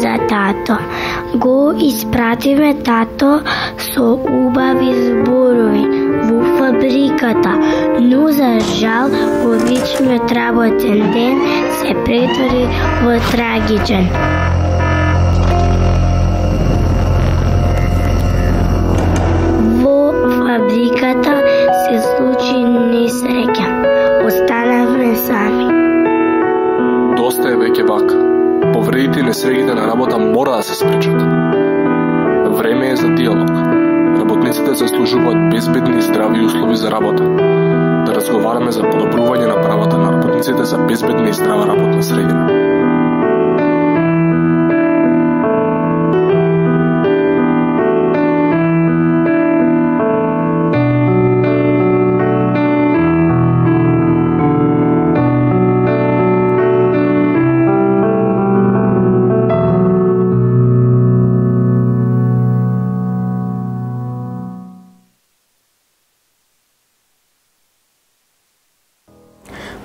за тато. Го испратиме тато со убави зборови во фабриката, но за жал обичниот работен ден се претвори во трагичен. Во фабриката се случи несреќа. Останавме сами. Доста е веќе вака. Повредите и несреќите на работа мора да се спречат. Време е за диалог. Работниците заслужуваат безбедни и здрави услови за работа. Да разговараме за подобрување на правата на работниците за безбедна и здрава работна средина.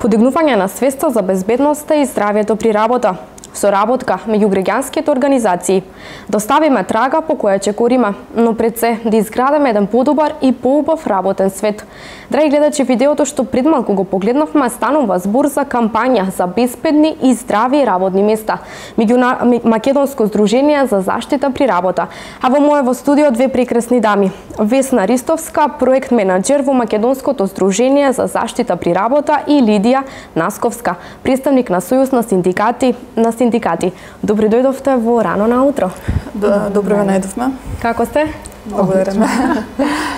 Подигнување на свеста за безбедноста и здравјето при работа. Соработка меѓу граѓанските организации. Доставиме трага по која чекориме, но пред се да изградиме еден подобар и поубав работен свет. Драги гледачи, видеото што пред малку го погледнавме станува збор за кампања за безбедни и здрави работни места меѓу Македонско здружение за заштита при работа. А во моево студио две прекрасни дами. Весна Ристовска, проект менаџер во Македонското здружение за заштита при работа, и Лидија Насковска, представник на Сојуз на синдикати. Добри дојдовте во рано наутро. Добро ве најдовме. Како сте? Благодариме.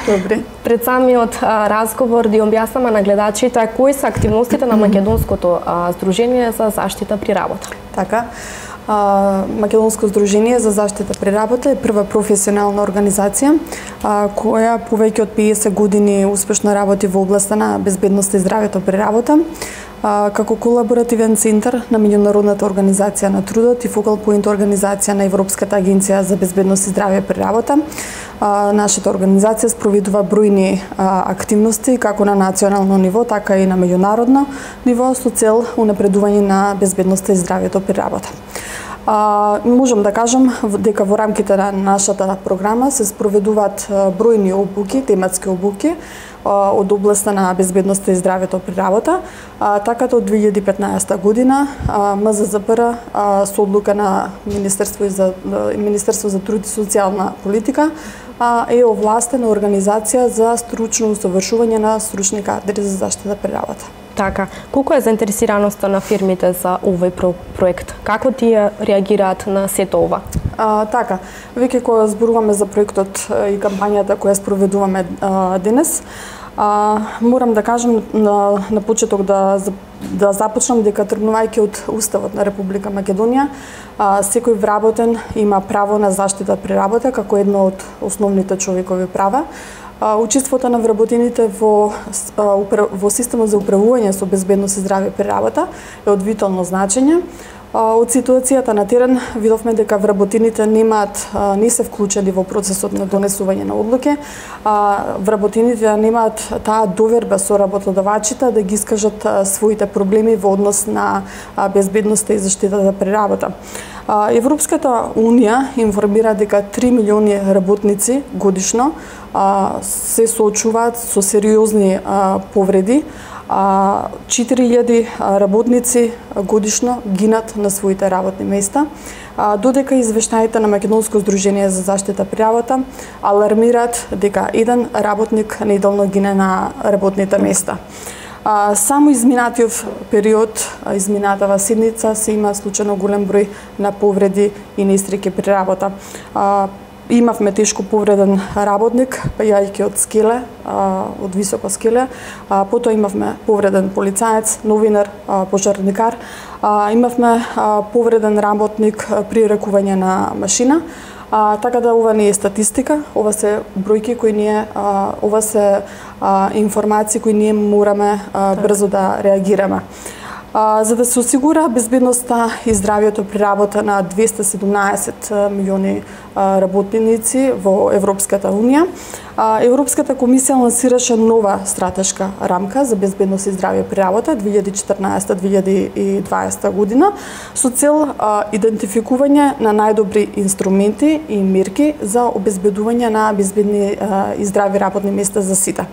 Добри. Пред самиот разговор да објаснаме на гледачите кои се активностите на Македонското здружение за заштита при работа. Така. Македонско здружение за заштита при работа е прва професионална организација која повеќе од 50 години успешно работи во областа на безбедноста и здравјето при работа. Како колаборативен центар на Меѓународната организација на трудот и фокал поинт организација на Европската агенција за безбедност и здравје при работа, нашата организација спроведува бројни активности како на национално ниво, така и на меѓународно ниво со цел унапредување на безбедноста и здравјето при работа. Можам да кажам дека во рамките на нашата програма се спроведуваат бројни обуки, тематски обуки од областа на безбедноста и здравјето при работа. Така од 2015 година МЗЗПР со одлука на Министерство за труд и социјална политика е овластена организација за стручно усовршување на стручни кадри за заштита при работа. Така, колку е заинтересираноста на фирмите за овој проект? Како тие реагираат на сето ова? Така, веќе кога зборуваме за проектот и кампањата која спроведуваме денес, морам да кажам на почеток да започнам дека тргнувајќи од Уставот на Република Македонија, секој вработен има право на заштита при работа како едно од основните човекови права. Учеството на вработените во системот за управување со безбедност и здравје при работа е од витално значење. Од ситуацијата на терен видовме дека вработените не се вклучени во процесот на донесување на одлуки. Вработените немаат таа доверба со работодавачите да ги искажат своите проблеми во однос на безбедноста и заштитата при работа. Европската унија информира дека 3 милиони работници годишно се соочуваат со сериозни повреди, 4000 работници годишно гинат на своите работни места, додека извештаите на Македонско здружение за заштита при работа алармираат дека еден работник неделно гине на работните места. Само изминатиот период, изминатава седница, се има случајно голем број на повреди и несреќи при работа. Имавме тешко повреден работник, паѓајќи од скеле, од високо скеле. Потоа имавме повреден полицаец, новинар, пожарникар. Имавме повреден работник при ракување на машина. Така да ова не е статистика, ова се бројки кои ова се информации кои ние мораме брзо да реагираме. За да се осигура безбедноста и здравието при работа на 217 милиони работници во Европската Унија, Европската комисија лансираше нова стратешка рамка за безбедност и здравје при работа 2014-2020 година со цел идентификување на најдобри инструменти и мерки за обезбедување на безбедни и здрави работни места за сите.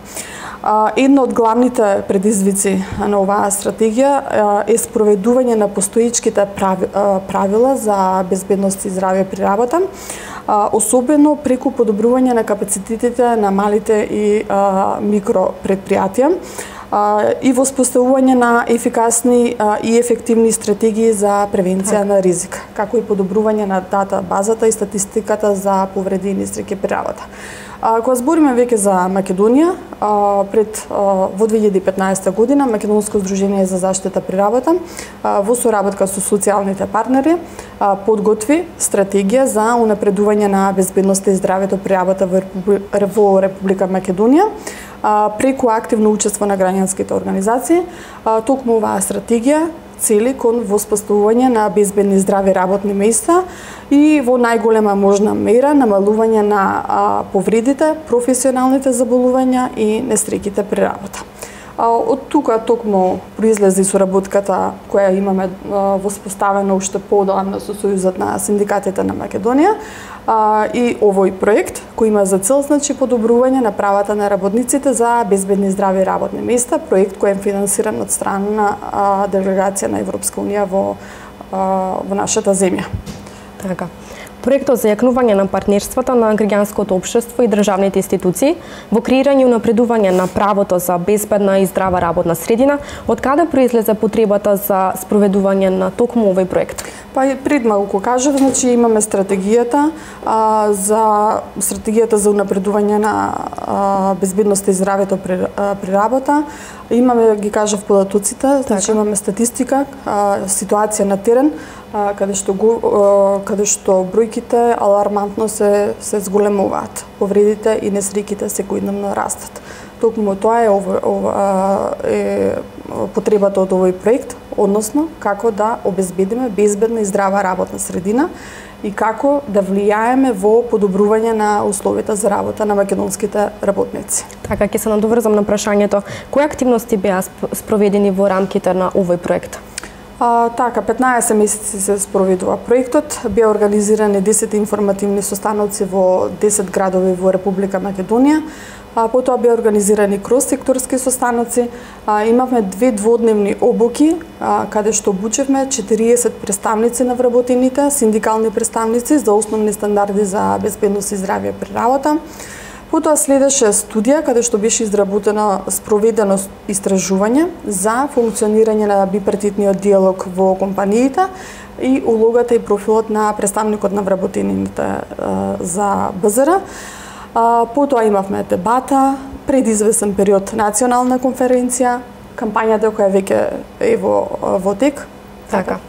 Едно од главните предизвици на оваа стратегија е спроведување на постоечките правила за безбедност и здравје при работа, особено преку подобрување на капацитетите на малите и микропредпријатија и воспоставување на ефикасни и ефективни стратегии за превенција на ризик, како и подобрување на дата базата и статистиката за повреди и несреќи при работа. Кога збориме веќе за Македонија, во 2015 година Македонско здружение за заштита при работа во соработка со социјалните партнери подготви стратегија за унапредување на безбедноста и здравјето при работа во Република Македонија преку активно учество на граѓанските организации. Токму оваа стратегија цели кон воспоставување на безбедни здрави работни места и во најголема можна мера намалување на повредите, професионалните заболувања и несреќите при работа. Од тука токму произлезе соработката која имаме воспоставена уште поодамна со Сојузот на синдикатите на Македонија и овој проект кој има за цел подобрување на правата на работниците за безбедни здрави работни места, проект кој е финансиран од страна на делегација на Европска Унија во нашата земја. Така. Проектот за јакнување на партнерствата на граѓанското општество и државните институции во креирање и унапредување на правото за безбедна и здрава работна средина, од каде произлезе потребата за спроведување на токму овој проект? Пред малку кажав, имаме стратегијата за унапредување на безбедноста и здравјето при работа. Имаме, ги кажав, податоците, имаме статистика, ситуација на терен, каде што бројките алармантно се зголемуваат. Повредите и несреќите секојдневно растат. Токму тоа е потребата од овој проект, односно како да обезбедиме безбедна и здрава работна средина и како да влијаеме во подобрување на условията за работа на македонските работници. Така, ќе се надоврзам на прашањето. Кои активности беа спроведени во рамките на овој проект? 15 месеци се спроведува проектот, беа организирани 10 информативни состаноци во 10 градови во Република Македонија, потоа беа организирани кроссекторски состаноци, имавме 2 дводневни обуки, каде што обучевме 40 представници на вработените, синдикални представници за основни стандарди за безбедност и здравје при работа. Потоа следеше студија каде што беше изработено спроведено истражување за функционирање на бипартитниот диалог во компаниите и улогата и профилот на представникот на вработените за БЗР. Потоа имавме дебата, пред извесен период национална конференција, кампањата која веќе е во тек. Така.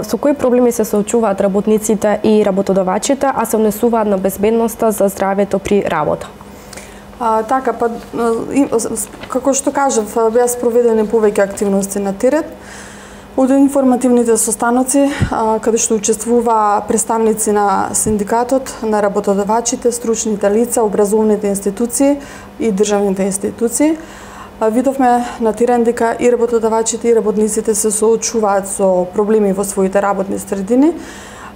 Со кои проблеми се соочуваат работниците и работодавачите, а се однесуваат на безбедноста за здравјето при работа? Како што кажав, беа спроведени повеќе активности на терен. Од информативните состаноци, каде што учествува представници на синдикатот, на работодавачите, стручните лица, образовните институции и државните институции, видовме на терен дека и работодавачите и работниците се соочуваат со проблеми во своите работни средини.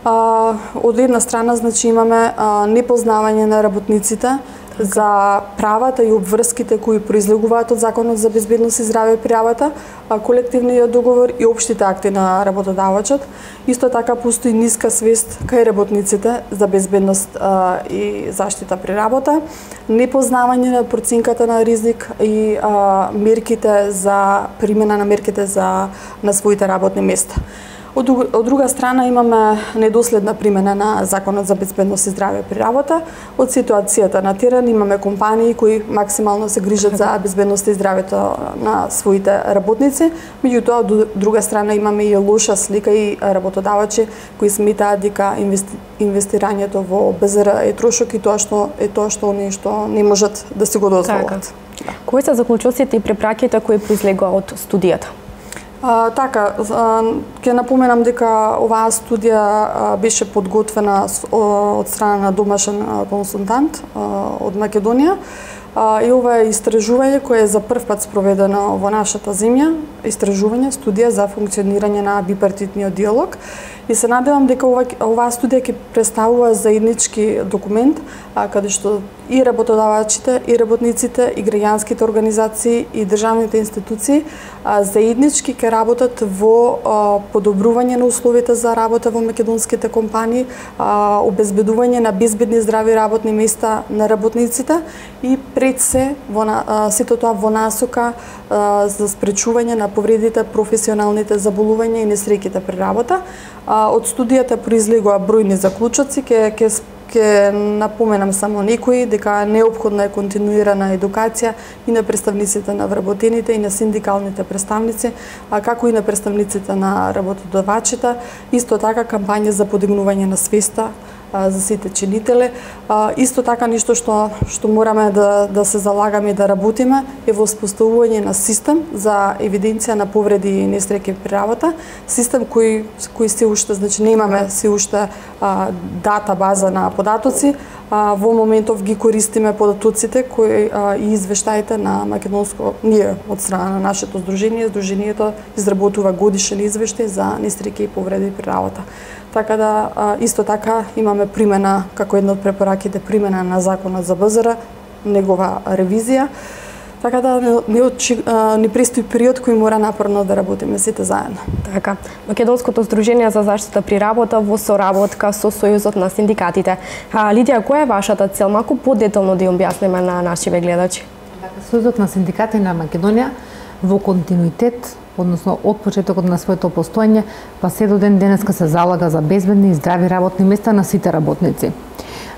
Од една страна, имаме непознавање на работниците за правата и обврските кои произлегуваат од Законот за безбедност и здравје при работа, колективниот договор и општите акти на работодавачот. Исто така постои ниска свест кај работниците за безбедност и заштита при работа, непознавање на проценката на ризик и мерките за примена на мерките на своите работни места. Од друга страна имаме недоследна примена на Законот за безбедност и здравје при работа. Од ситуацијата на терен имаме компании кои максимално се грижат за безбедноста и здравјето на своите работници, меѓутоа од друга страна имаме и лоша слика и работодавачи кои сметаат дека инвестирањето во БЗР е трошок и тоа што не можат да се го дозволат. Кои се заклучоците и препраките кои произлегува од студијата? Така, ќе напоменам дека оваа студија беше подготвена од страна на домашен консултант од Македонија. И ова е истражување кое е за прв пат спроведено во нашата земја, истражување, студија за функционирање на бипартитниот диалог. И се надевам дека оваа студија ќе представува заеднички документ, каде што и работодавачите, и работниците, и граѓанските организации, и државните институции заеднички ќе работат во подобрување на условите за работа во македонските компании, обезбедување на безбедни здрави работни места на работниците и пред се сето тоа во насока за спречување на повредите, професионалните заболувања и несреќите при работа. Од студијата произлегува бројни заклучоци, ќе напоменам само некои, дека неопходна е континуирана едукација и на представниците на вработените и на синдикалните представници, како и на представниците на работодавачите. Исто така кампања за подигнување на свеста за сите чинители. Исто така нешто што мораме да се залагаме и да работиме е во воспоставување на систем за евиденција на повреди и несреќи при работа, систем кој се уште, значи немаме се уште дата база на податоци. Во моментов ги користиме податоците кои и извештаите на македонско, ние од страна на нашето здружение, здружението изработува годишен извештај за несреќи и повреди при работа. Така да, исто така имаме примена, како една од препораките, примена на законот за БЗР, негова ревизија. Така да ни престои период кој мора напорно да работиме сите заедно. Така, Македонското здружение за заштита при работа во соработка со Сојузот на синдикатите. Лидија, која е вашата цел? Малку подетално да ја објасниме на нашите гледачи. Така, Сојузот на синдикати на Македонија во континуитет, односно од почетокот на своето постоење, па се до ден денеска се залага за безбедни и здрави работни места на сите работници.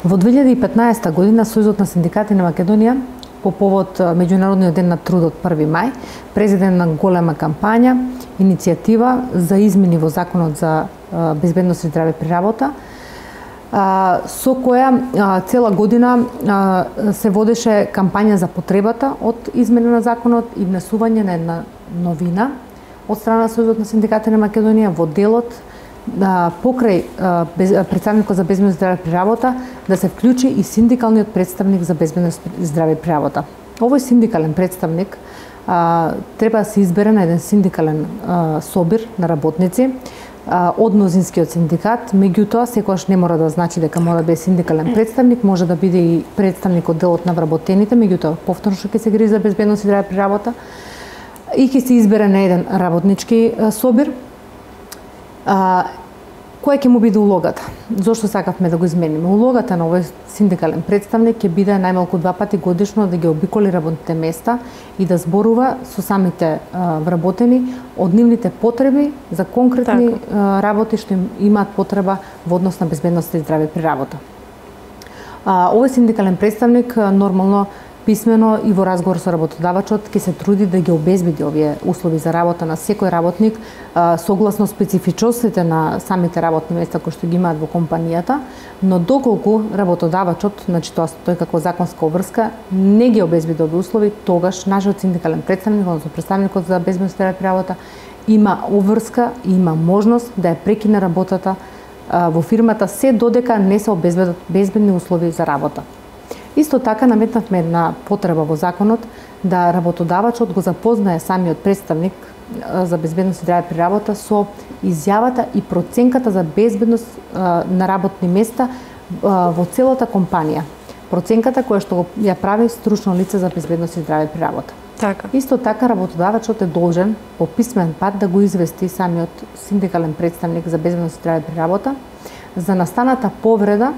Во 2015 година Сојузот на синдикати на Македонија по повод Меѓународниот ден на трудот 1 мај, президент на голема кампања, иницијатива за измени во Законот за безбедност и здраве при работа, со која цела година се водеше кампања за потребата од измена на законот и внесување на една новина од страна на Сојузот на синдикати на Македонија во делот покрај представникот за безбедност и здраве при работа да се вклучи и синдикалниот представник за безбедност и здраве при работа. Овој синдикален представник треба да се избере на еден синдикален собир на работници од мнозинскиот синдикат, меѓутоа секогаш не мора да значи дека мора да биде синдикален представник, може да биде и представник од делот на вработените, меѓутоа повторно што ќе се грижи за безбедност и здраве при работа и ќе се избере на еден работнички собир. Која ќе му биде улогата? Зошто сакавме да го измениме? Улогата на овој синдикален представник ќе биде најмалку 2 пати годишно да ги обиколи работните места и да зборува со самите вработени од нивните потреби за конкретни работи што им имаат потреба во однос на безбедност и здраве при работа. Овој синдикален представник нормално писмено и во разговор со работодавачот ќе се труди да ги обезбеди овие услови за работа на секој работник согласно специфичностите на самите работни места кои што ги имаат во компанијата, но доколку работодавачот, значи тој како законска обврска, не ги обезбеди овие услови, тогаш нашиот синдикален представник, односно представникот за безбедност и работа, има обврска и има можност да ја прекине работата во фирмата се додека не се обезбедат безбедни услови за работа. Исто така наметнавме една потреба во законот да работодавачот го запознае самиот представник за безбедност и здраве при работа со изјавата и проценката за безбедност на работни места во целата компанија. Проценката која што ја прави стручно лице за безбедност и здраве при работа. Така. Исто така работодавачот е должен по писмен пат да го извести самиот синдикален представник за безбедност и здраве при работа за настаната повреда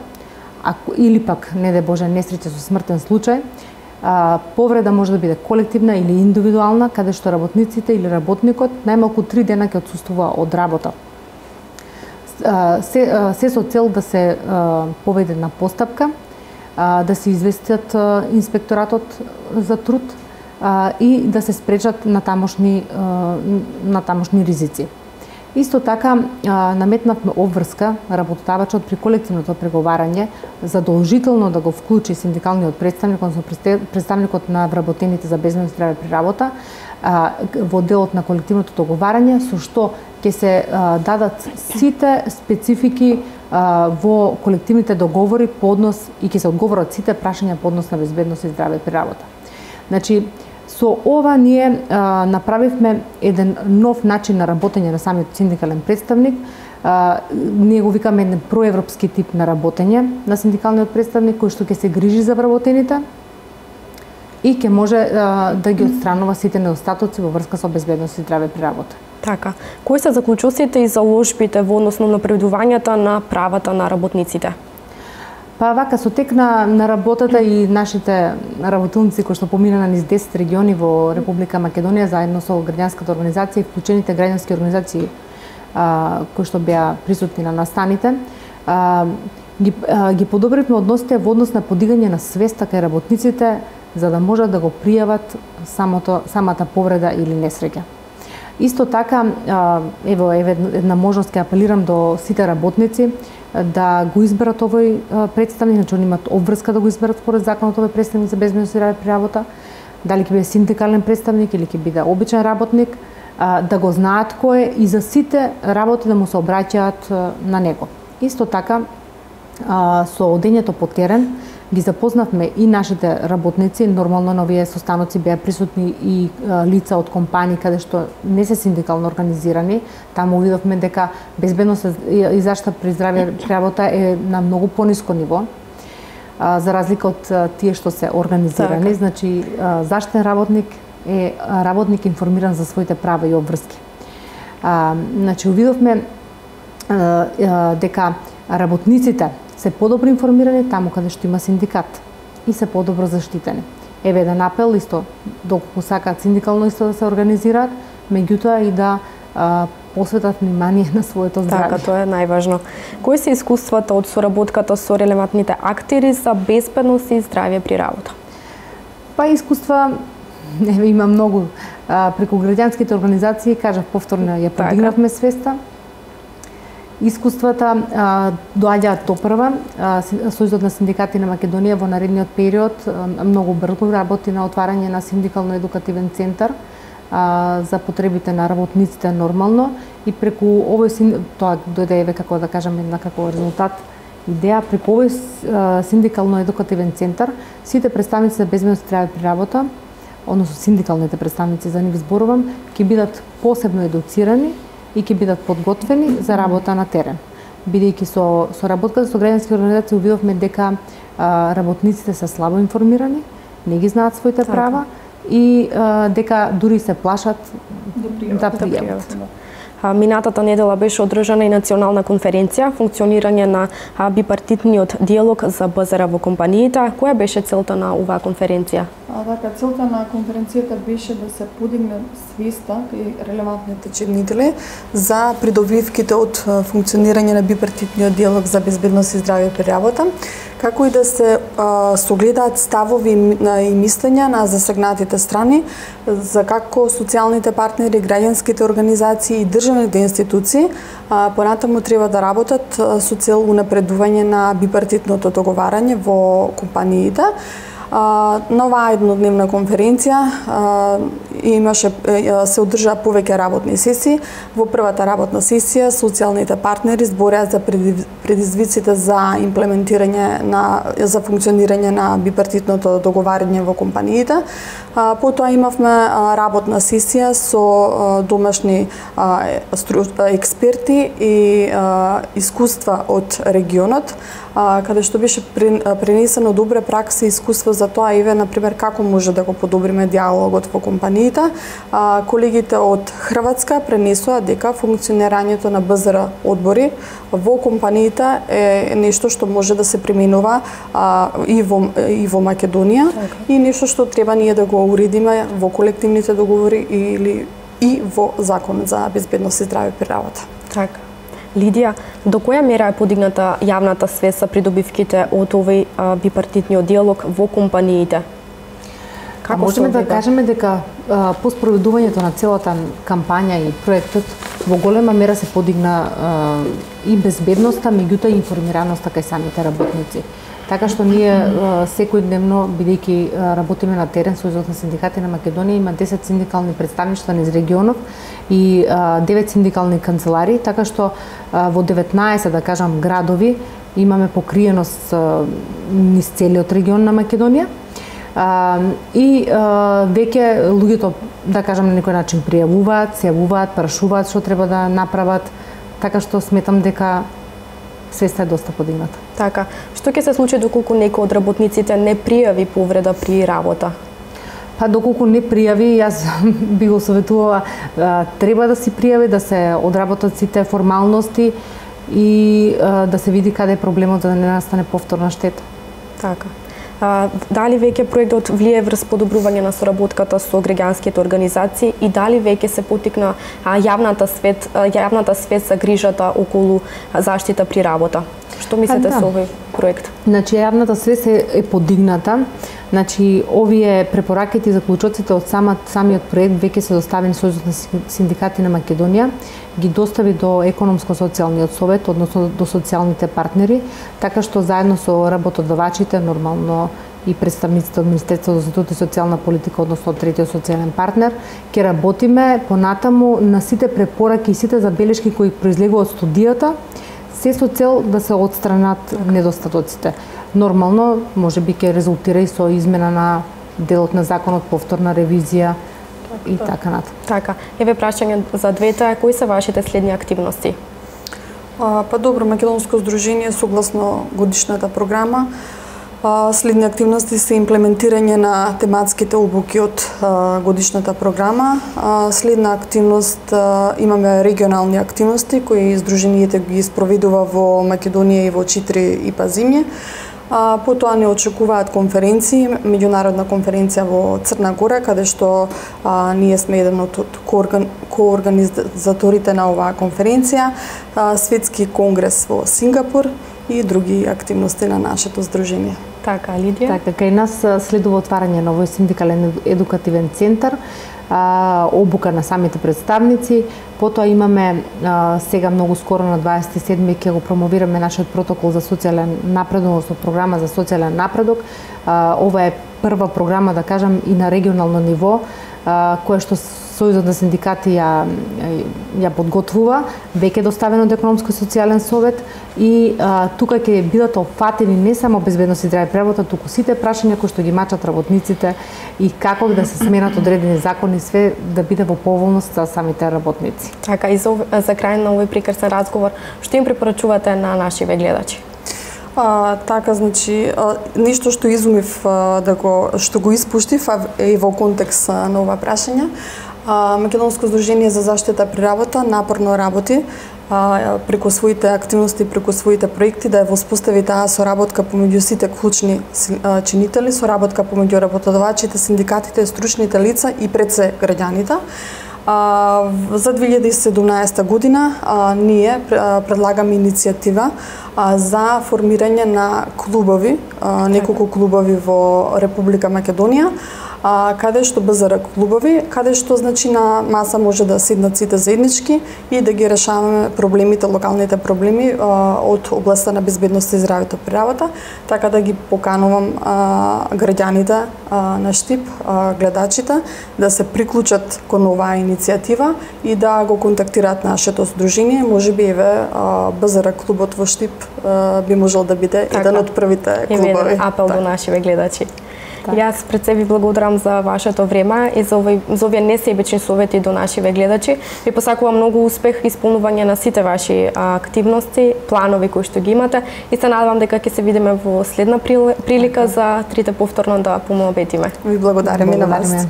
или пак, не дај Боже, несреќа со смртен случај. Повреда може да биде колективна или индивидуална, каде што работниците или работникот најмалку 3 дена ќе отсуствува од работа. Се со цел да се поведе една постапка, да се известат инспекторатот за труд и да се спречат натамошни ризици. Исто така наметнавме обврска работодавачот при колективното преговарање задолжително да го вклучи синдикалниот представник, односно представникот на вработените за безбедност и здраве при работа во делот на колективното договарање, со што ќе се дадат сите специфики во колективните договори по однос и ќе се одговорат сите прашања по однос на безбедност и здраве при работа. Значи, со ова ние направивме еден нов начин на работење на самиот синдикален представник. Ние го викаме еден проевропски тип на работење на синдикалниот представник кој што ќе се грижи за вработените и ќе може да ги отстранува сите недостатоци во врска со безбедност и здраве при работа. Така. Кои се заклучоците и заложбите во однос на напредувањето на правата на работниците? Па вака, со тек на работата и нашите работилници кои што помина низ 10 региони во Република Македонија заедно со граѓанската организација и вклучените граѓански организации кои што беа присутни на настаните, ги подобривме односите во однос на подигање на свеста кај работниците за да можат да го пријават самата повреда или несреќа. Исто така, ево една можност ќе апелирам до сите работници да го изберат овој представник, значи они имаат обврска да го изберат според законот овој представник за безбедност и здраве при работа, дали ќе биде синдикален представник или ќе биде обичен работник, да го знаат кој е и за сите работи да му се обраќаат на него. Исто така, со одењето по терен ги запознавме и нашите работници, нормално на овие состаноци беа присутни и лица од компании каде што не се синдикално организирани. Таму увидовме дека безбедност и заштита при здраве при работа е на многу пониско ниво, за разлика од тие што се организирани. Така. Значи, заштитен работник е работник информиран за своите права и обврски. Значи, увидовме дека работниците се подобро информирани таму каде што има синдикат и се подобро заштитени. Еве еден апел исто, доколку сакаат синдикално исто да се организираат, меѓутоа и да посветат внимание на своето здравје. Така, тоа е најважно. Кои се искуствата од соработката со релевантните актери за безбедност и здравје при работа? Па искуства има многу. Преку граѓанските организации, кажав повторно, ја подигнавме свеста. Искуствата доаѓаат допрва. Сојузот на синдикати на Македонија во наредниот период многу брзо работи на отварање на синдикално-едукативен центар за потребите на работниците нормално и преку овој тоа дојде еве како да кажам една како резултат идеја преку овој синдикално-едукативен центар сите представници за безбедност и здраве при работа, односно синдикалните представници за нив зборувам, ќе бидат посебно едуцирани и ќе бидат подготвени за работа на терен. Бидејќи со работката со граѓански организации увидовме дека работниците се слабо информирани, не ги знаат своите права и дека дури се плашат да пријават. Минатата недела беше одржана и национална конференција функционирање на бипартитниот диалог за БЗР во компаниите. Која беше целта на оваа конференција? Така, целта на конференцијата беше да се подигне свеста и релевантните членители за придобивките од функционирање на бипартитниот диалог за безбедност и здравје при работа, како и да се согледаат ставови и мислења на засегнатите страни за како социјалните партнери, граѓанските организации и државните институции понатаму треба да работат со цел унапредување на бипартитното договарање во компаниите. На оваа еднодневна конференција се одржаа повеќе работни сесии. Во првата работна сесија социјалните партнери збореа за предизвиците за имплементирање за функционирање на бипартитното договарање во компаниите. Потоа имавме работна сесија со домашни експерти и искуства од регионот, каде што беше пренесено добре пракси и искуства за тоа, еве, например, како може да го подобриме диалогот во компаниите. Колегите од Хрватска пренесоа дека функционирањето на БЗР одбори во компаниите е нешто што може да се применува и во Македонија и нешто што треба ние да го уредиме во колективните договори или и во Законот за безбедност и здравје при работа. Така. Лидија, до која мера е подигната јавната свест за придобивките од овој бипартитниот диалог во компаниите? Како можеме да кажеме дека по спроведувањето на целата кампања и проектот во голема мера се подигна и безбедноста, меѓутоа и информираноста кај самите работници. Така што ние секојдневно, бидејќи работиме на терен, Сојузот на синдикати на Македонија има 10 синдикални представништва низ регионов и 9 синдикални канцелари, така што во 19, да кажам, градови имаме покриеност низ целиот регион на Македонија. И веќе луѓето, да кажам, на некој начин пријавуваат, се јавуваат, прашуваат што треба да направат, така што сметам дека свеста е доста подигната. Така, што ќе се случи доколку некој од работниците не пријави повреда при работа? Па доколку не пријави, јас би го советувала треба да си пријави, да се одработат сите формалности и да се види каде е проблемот за да не настане повторна штета. Така. Дали веќе проектот влие врз подобрување на соработката со граѓанските организации и дали веќе се поттикна јавната свест за грижата околу заштита при работа? Што мислите со овој проект? Значи, јавната свест е подигната. Значи, овие препораките и заклучоците од самиот проект веќе се доставени Сојузот на синдикати на Македонија, ги достави до економско-социјалниот совет, односно до социјалните партнери, така што заедно со работодавачите, нормално и представниците од Министерството за труд и социјална политика, односно од третиот социјален партнер, ќе работиме понатаму на сите препораки и сите забелешки кои произлегуваат од студијата, се со цел да се отстранат недостатоците. Нормално, можеби ќе резултира и со измена на делот на законот, повторна ревизија и така натаму. Така, еве прашање за двете, кои се вашите следни активности? Па добро, Македонско здружение согласно годишната програма, следни активности се имплементирање на тематските обуки од годишната програма. Следна активност имаме регионални активности кои здруженијето ги спроведува во Македонија и во 4 ИПА земји. Потоа не очекуваат конференции, меѓународна конференција во Црна Гора, каде што ние сме еден од коорганизаторите на оваа конференција, светски конгрес во Сингапур и други активности на нашето здружение. Така, Лидија? Така, кај нас следува отварање на овој синдикален едукативен центар, обука на самите представници. Потоа имаме сега многу скоро на 27 ќе го промовираме нашиот протокол за социјален напредок, односно програма за социјален напредок. Ова е прва програма, да кажам, и на регионално ниво, која што Сојузот на синдикати ја подготвува, веќе доставено од економско-социјален совет и тука ќе бидат опфатени не само безбедност и здраве при работа, туку сите прашања кои што ги мачат работниците и како да се сменат одредени закони, све да биде во поволност за самите работници. Така, и за крај на овој прекрасен разговор, што им препорачувате на нашите гледачи? Така, значи, нешто што изумив што го испуштив е во контекст на ова прашање. Македонско здружение за заштита при работа напорно работи преку своите активности, преку своите проекти да ја воспостави таа соработка помеѓу сите клучни чинители, соработка помеѓу работодавачите, синдикатите, стручните лица и пред се граѓаните. За 2017 година ние предлагаме иницијатива за формирање на клубови, неколку клубови во Република Македонија, каде што БЗР клубови, каде што значи на маса може да седнат сите заеднички и да ги решаваме проблемите, локалните проблеми од областта на безбедност и здравето при работа, така да ги поканувам граѓаните на Штип, гледачите, да се приклучат кон оваа иницијатива и да го контактираат нашето здружение. Можеби еве БЗР клубот во Штип би можел да биде еден од првите клубови. Апел до нашите гледачи. Јас пред се ви благодарам за вашето време и за овие несебични совети до нашите гледачи. Ви посакувам многу успех и исполнување на сите ваши активности, планови кои што ги имате и се надевам дека ќе се видиме во следна прилика за трите повторно да помобедиме. Ви благодарам и на вас.